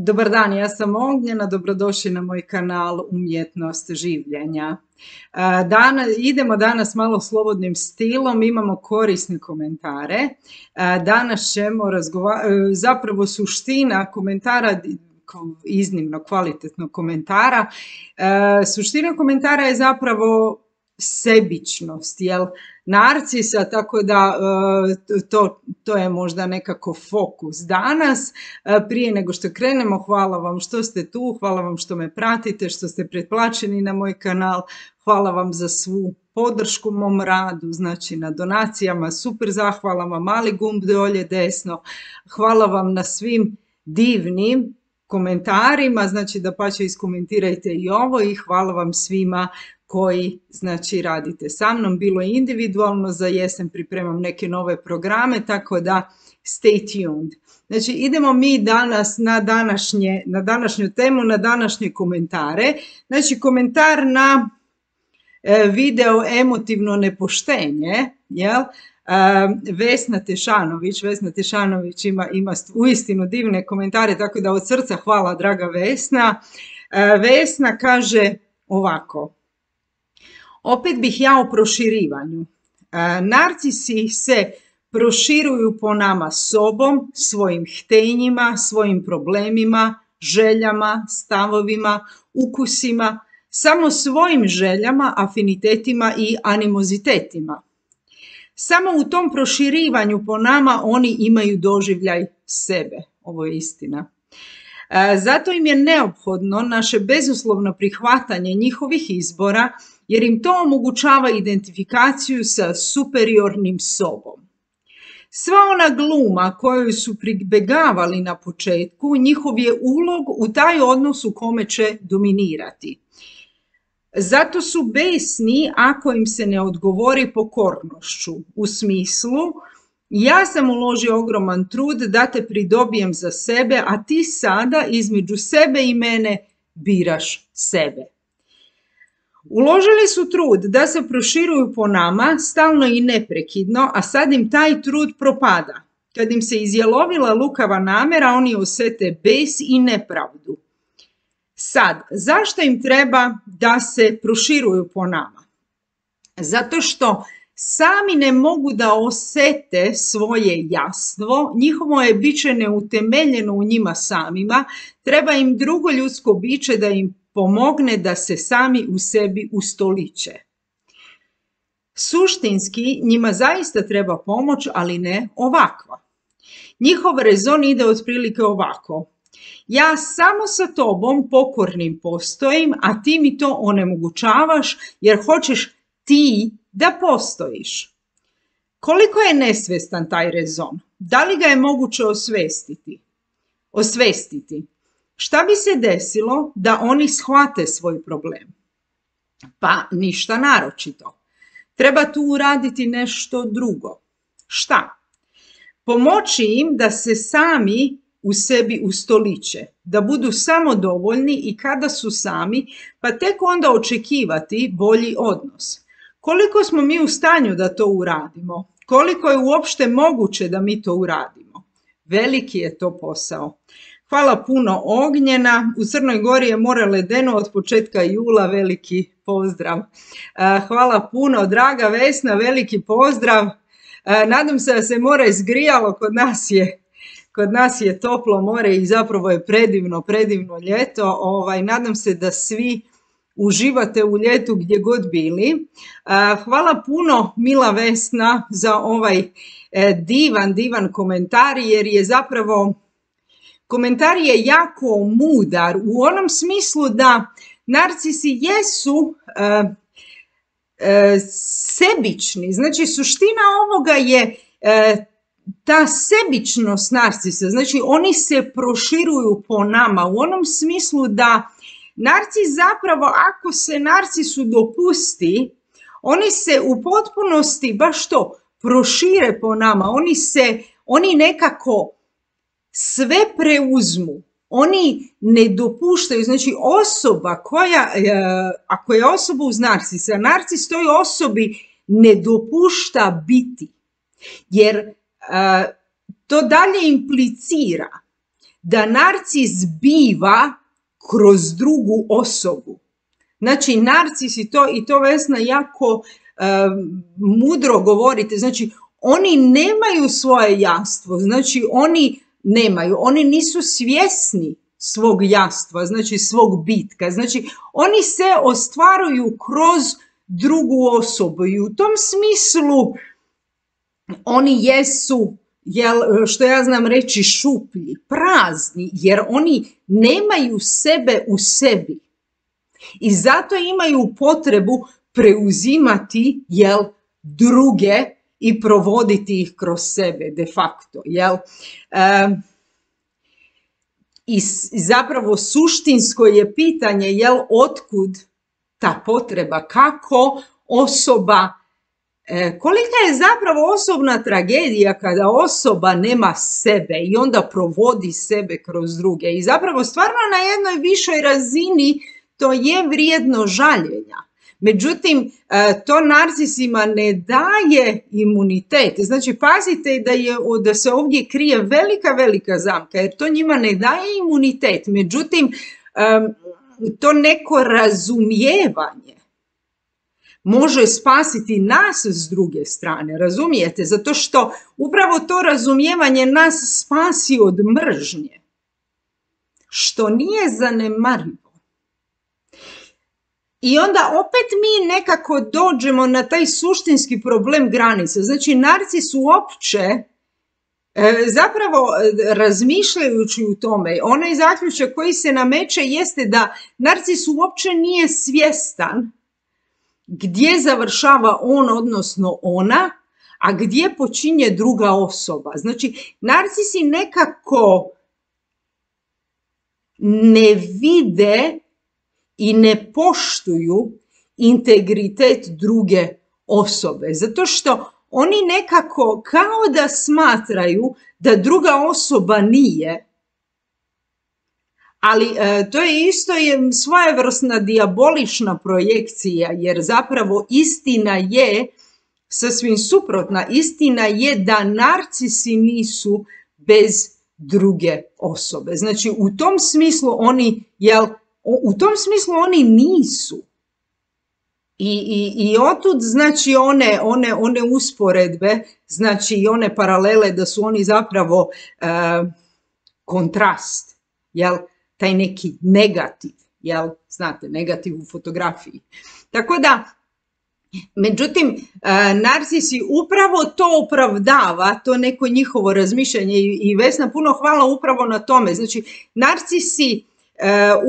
Dobar dan, ja sam Ognjena, dobrodošli na moj kanal Umjetnost življenja. Idemo danas malo slobodnim stilom, imamo korisne komentare. Danas ćemo zapravo suština komentara, iznimno kvalitetnog komentara, suština komentara je zapravo sebičnost, jel? Narcisa, tako da to je možda nekako fokus danas. Prije nego što krenemo, hvala vam što ste tu, hvala vam što me pratite, što ste pretplaćeni na moj kanal, hvala vam za svu podršku mom radu, znači na donacijama, super zahvalama, mali gumb dolje desno, hvala vam na svim divnim komentarima, znači dapače iskomentirajte i ovo i hvala vam svima koji znači radite sa mnom, bilo je individualno, za jesen pripremam neke nove programe, tako da stay tuned. Znači idemo mi danas na današnju temu, na današnje komentare. Znači komentar na video emotivno nepoštenje, jel? Vesna Tešanović ima uistinu divne komentare, tako da od srca hvala draga Vesna. Vesna kaže ovako: opet bih ja o proširivanju. Narcisi se proširuju po nama sobom, svojim htenjima, svojim problemima, željama, stavovima, ukusima, samo svojim željama, afinitetima i animozitetima. Samo u tom proširivanju po nama oni imaju doživljaj sebe. Ovo je istina. Zato im je neophodno naše bezuslovno prihvatanje njihovih izbora, jer im to omogućava identifikaciju sa superiornim sobom. Sva ona gluma koju su pribegavali na početku, njihov je ulog u taj odnos u kome će dominirati. Zato su besni ako im se ne odgovori pokornošću, u smislu: ja sam uložio ogroman trud da te pridobijem za sebe, a ti sada između sebe i mene biraš sebe. Uložili su trud da se proširuju po nama stalno i neprekidno, a sad im taj trud propada. Kad im se izjalovila lukava namjera, oni osjete bes i nepravdu. Sad, zašto im treba da se proširuju po nama? Zato što sami ne mogu da osjete svoje jastvo, njihovo je biće neutemeljeno u njima samima, treba im drugo ljudsko biće da im pomogne da se sami u sebi ustoliče. Suštinski njima zaista treba pomoć, ali ne ovakva. Njihov rezon ide otprilike ovako: ja samo sa tobom pokornim postojim, a ti mi to onemogućavaš jer hoćeš ti da postojiš. Koliko je nesvjestan taj rezon? Da li ga je moguće osvestiti? Šta bi se desilo da oni shvate svoj problem? Pa ništa naročito. Treba tu uraditi nešto drugo. Šta? Pomoći im da se sami u sebi ustoliče, da budu samodovoljni i kada su sami, pa tek onda očekivati bolji odnos. Koliko smo mi u stanju da to uradimo? Koliko je uopšte moguće da mi to uradimo? Veliki je to posao. Hvala puno Ognjena, u Crnoj Gori je more ledeno od početka jula, veliki pozdrav. Hvala puno, draga Vesna, veliki pozdrav. Nadam se da se more izgrijalo, kod nas je toplo more i zapravo je predivno ljeto. Nadam se da svi uživate u ljetu gdje god bili. Hvala puno mila Vesna za ovaj divan komentar, jer je zapravo komentar je jako mudar u onom smislu da narcisi jesu sebični. Znači suština ovoga je ta sebičnost narcisa. Znači oni se proširuju po nama u onom smislu da narcis zapravo, ako se narcisu dopusti, oni se u potpunosti baš to prošire po nama. Oni nekako sve preuzmu, oni ne dopuštaju, znači osoba ako je osoba uz narcisa, narcis toj osobi ne dopušta biti, jer to dalje implicira da narcis biva kroz drugu osobu. Znači, narcisi i to Vesna jako mudro govorite, znači, oni nemaju svoje jastvo, znači, oni nisu svjesni svog jastva, znači svog bitka, znači, oni se ostvaruju kroz drugu osobu i u tom smislu oni jesu, što ja znam reći, šuplji, prazni, jer oni nemaju sebe u sebi. I zato imaju potrebu preuzimati, druge i provoditi ih kroz sebe, de facto, I zapravo suštinsko je pitanje, otkud ta potreba, kako osoba, kolika je zapravo osobna tragedija kada osoba nema sebe i onda provodi sebe kroz druge. I zapravo stvarno na jednoj višoj razini to je vrijedno žaljenja. Međutim, to narcisima ne daje imunitet. Znači, pazite da se ovdje krije velika zamka, jer to njima ne daje imunitet. Međutim, to neko razumijevanje može spasiti nas s druge strane, razumijete? Zato što upravo to razumijevanje nas spasi od mržnje, što nije zanemarivo. I onda opet mi nekako dođemo na taj suštinski problem granice. Znači, narcis uopće, zapravo razmišljajući u tome, onaj zaključak koji se nameće jeste da narcis uopće nije svjestan gdje završava on, odnosno ona, a gdje počinje druga osoba. Znači, narcisi nekako ne vide i ne poštuju integritet druge osobe, zato što oni nekako kao da smatraju da druga osoba nije, ali to je isto svojevrsna dijabolična projekcija, jer zapravo istina je sasvim suprotna. Istina je da narcisi nisu bez druge osobe. Znači, u tom smislu oni nisu. I otud, znači, one usporedbe, znači, i one paralele da su oni zapravo kontrast, taj neki negativ, znate, negativ u fotografiji. Tako da, međutim, narcisi upravo to opravdava, to neko njihovo razmišljanje i Vesna, puno hvala upravo na tome. Znači, narcisi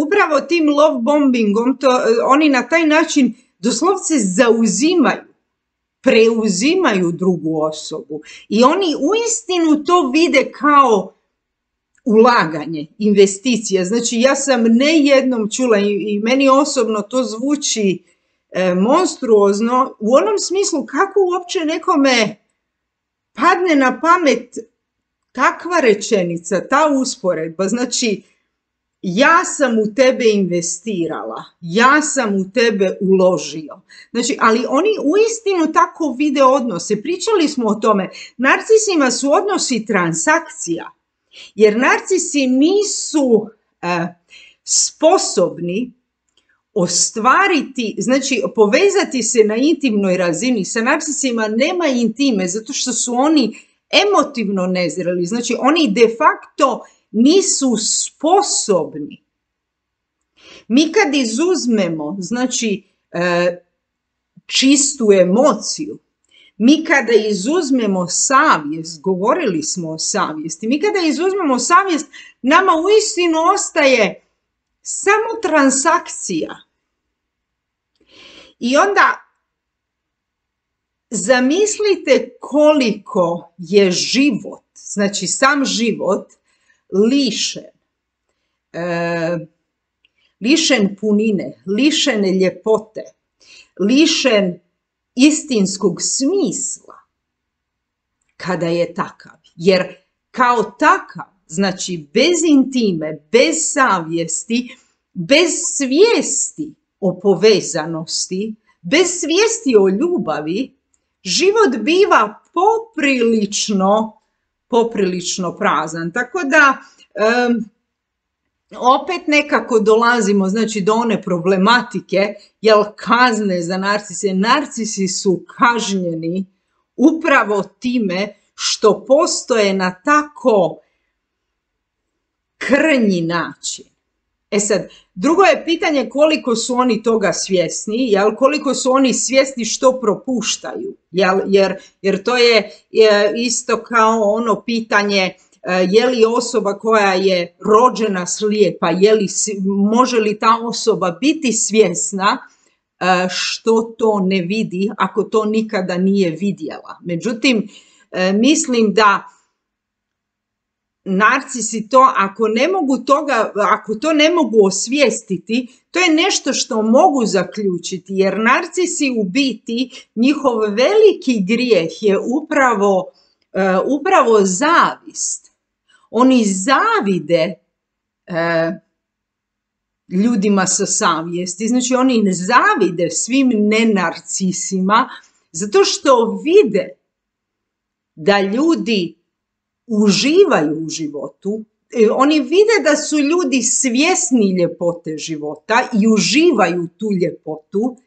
upravo tim love bombingom, oni na taj način doslovce zauzimaju, preuzimaju drugu osobu i oni uistinu to vide kao ulaganje, investicija. Znači, ja sam ne jednom čula i meni osobno to zvuči monstruozno u onom smislu kako uopće nekome padne na pamet takva rečenica, ta usporedba. Znači, ja sam u tebe investirala, ja sam u tebe uložio. Znači, ali oni uistinu tako vide odnose. Pričali smo o tome. Narcisima su odnosi transakcija, jer narcisi nisu sposobni ostvariti, znači povezati se na intimnoj razini. Sa narcisima nema intime, zato što su oni emotivno nezreli. Znači, oni de facto nisu sposobni. Mi kad izuzmemo, znači, čistu emociju, mi kada izuzmemo savjest, govorili smo o savjesti, mi kada izuzmemo savjest, nama uistinu ostaje samo transakcija. I onda zamislite koliko je život, znači sam život, lišen punine, lišen ljepote, lišen istinskog smisla kada je takav. Jer kao takav, znači bez intime, bez savjesti, bez svijesti o povezanosti, bez svijesti o ljubavi, život biva poprilično prazan. Tako da opet nekako dolazimo, znači, do one problematike, jel kazne za narcise. Narcisi su kažnjeni upravo time što postoje na tako krnji način. E sad, drugo je pitanje koliko su oni toga svjesni, jel, koliko su oni svjesni što propuštaju, jel, jer to je isto kao ono pitanje je li osoba koja je rođena slijepa, može li ta osoba biti svjesna što to ne vidi ako to nikada nije vidjela. Međutim, mislim da narcisi to, ako to ne mogu osvijestiti, to je nešto što mogu zaključiti, jer narcisi u biti, njihov veliki grijeh je upravo zavist. Oni zavide ljudima sa savjesti, znači oni ne zavide svim nenarcisima, zato što vide da ljudi uživaju u životu, oni vide da su ljudi svjesni ljepote života i uživaju tu ljepotu,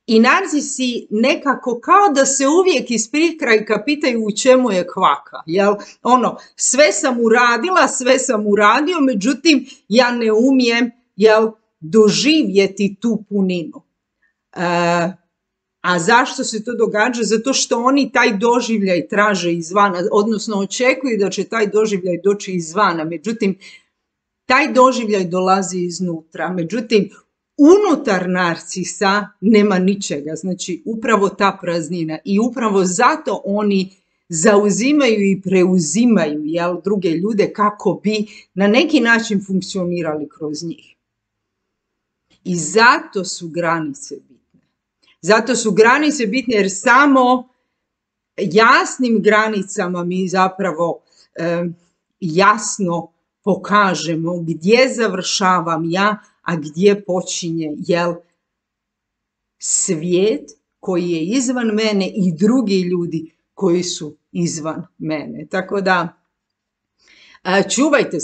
i narcisi nekako kao da se uvijek iz prikrajka pitaju u čemu je kvaka. Jel? Sve sam uradila, sve sam uradio, međutim ja ne umijem doživjeti tu puninu. A zašto se to događa? Zato što oni taj doživljaj traže izvana, odnosno očekuju da će taj doživljaj doći izvana. Međutim, taj doživljaj dolazi iznutra. Međutim, unutar narcisa nema ničega. Znači, upravo ta praznina. I upravo zato oni zauzimaju i preuzimaju druge ljude kako bi na neki način funkcionirali kroz njih. I zato su granice bitne. Zato su granice bitne jer samo jasnim granicama mi zapravo jasno pokažemo gdje završavam ja, a gdje počinje svijet koji je izvan mene i drugi ljudi koji su izvan mene. Tako da čuvajte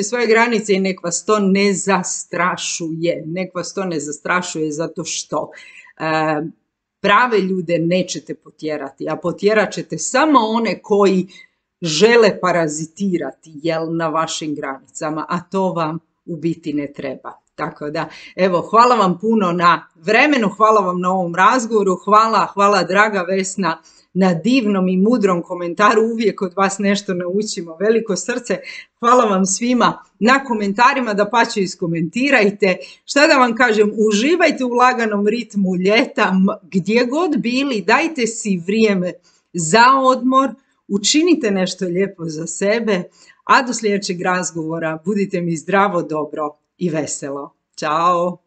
svoje granice i nek vas to ne zastrašuje. Nek vas to ne zastrašuje zato što prave ljude nećete potjerati, a potjerat ćete samo one koji žele parazitirati na vašim granicama, a to vam u biti ne treba. Tako da, evo, hvala vam puno na vremenu, hvala vam na ovom razgovoru, hvala draga Vesna na divnom i mudrom komentaru, uvijek od vas nešto naučimo, veliko srce, hvala vam svima na komentarima, dapače iskomentirajte, šta da vam kažem, uživajte u laganom ritmu ljeta, gdje god bili, dajte si vrijeme za odmor, učinite nešto lijepo za sebe, a do sljedećeg razgovora budite mi zdravo, dobro i veselo. Ćao!